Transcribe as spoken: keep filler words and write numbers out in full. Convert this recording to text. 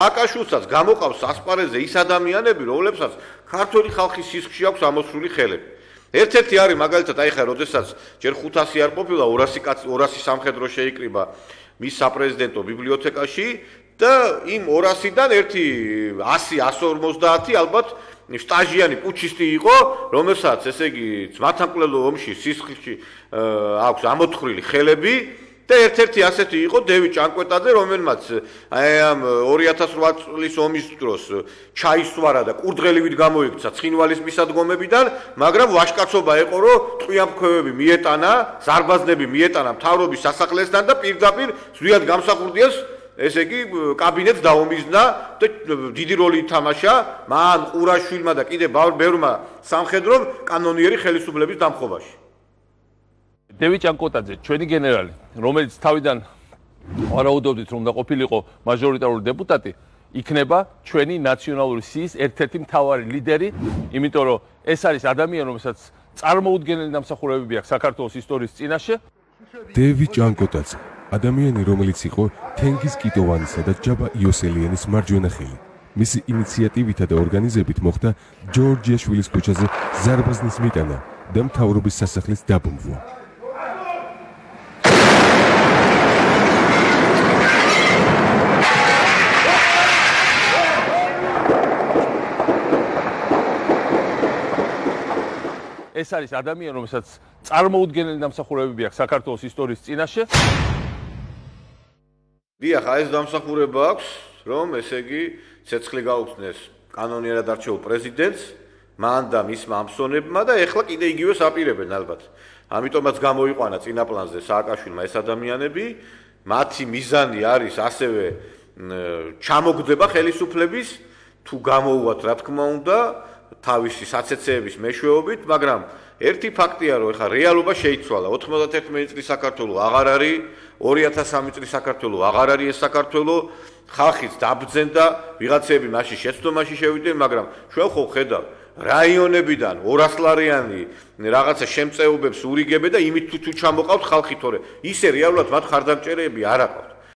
სააკაშვილსაც გამოყავს ასპარეზზე ის ადამიანები, რომლებსაც ქართული ხალხის სისხლში აქვს ამოსული ხელები. ერთ-ერთი არის მაგალითად აი ხა როდესაც ჯერ ხუთასი არ ყოფილა ორასი სამხედრო შეიკრიბა მის საპრეზიდენტო ბიბლიოთეკაში და იმ ორასიდან ერთი ასი ასი ორმოცდაათი ალბათ სტაჟიანი პუჩისტი იყო, რომელსაც ესე იგი ძმათამკვლელო ომში სისხლში აქვს ამოთხრილი ხელები და ერთ-ერთი ასეთი იყო დევი ჭანკვეტაძე, რომელმაც აი ამ ორი ათას ოთხ წლის ომის დროს ჩაისვარა და კურდღელივით გამოიქცა ცხინვალის მისადგომებიდან, მაგრამ ვაჟკაცობა ეყო, რომ ტყვიამფრქვევები მიეტანა, ზარბაზნები მიეტანა მთავრობის სასახლესთან და პირდაპირ ზვიად გამსახურდიას ესე იგი კაბინეტს დაომიზნა და დიდი როლი ითამაშა მან ყურაშვილმა და კიდე ბევრმა სამხედრომ კანონიერი ხელისუფლების დამხობაში. დევი ჭანკვეტაძე, ჩვენი გენერალი, რომელიც თავიდან ვარაუდობდით, რომ უნდა ყოფილიყო მაჟორიტარული დეპუტატი, იქნება ჩვენი ნაციონალური სიის ერთ-ერთი მთავარი ლიდერი, იმიტომ რომ ეს არის ადამიანი, რომელსაც წარმოუდგენელი დამსახურებები აქვს საქართველოს ისტორიის წინაშე. დევი ჭანკვეტაძე, ადამიანი, რომელიც იყო თენგიზ კიტოვანისა და ჯაბა იოსელიანის მარჯვენა ხელი. მისი ინიციატივითა და ორგანიზებით მოხდა ჯორჯიაშვილის ქუჩაზე ზარბაზნის მიტანა და მთავრობის სასახლის დაბომბვა. ეს არის ადამიანი, რომელსაც წარმოუდგენელი დამსახურებები აქვს საქართველოს ისტორიის წინაშე. დიახ, ეს დამსახურება აქვს, რომ ესე იგი ცეცხლი გაუხსნეს კანონიერად არჩეულ პრეზიდენტს, მან და მისმა ამსონებმა და ეხლა კიდე იგივეს აპირებენ ალბათ. ამიტომაც გამოიყვანა წინაპლანზე სააკაშვილმა ეს ადამიანები, მათი მიზანი არის ასევე ჩამოგდება ხელისუფლების თუ გამოუვათ რა თქმა უნდა თავისი საცეცეების მეშვეობით, მაგრამ ერთი ფაქტია, რომ ეხლა რეალობა შეიცვალა. ოთხმოცდაერთი წლის საქართველო აღარ არის, ორი ათას სამი წლის საქართველო აღარ არის ეს საქართველო, ხალხიც დაბრძენდა, ვიღაცები მაშინ შეცდომაში შევიდნენ, მაგრამ ჩვენ ხო ხედავთ რაიონებიდან ორასლარიანი რაღაცა შემწეობებს ურიგებენ და იმით თუ ჩამოყავთ ხალხი თორე ისე რეალურად მათ ხარდამჭერები არ აყავთ.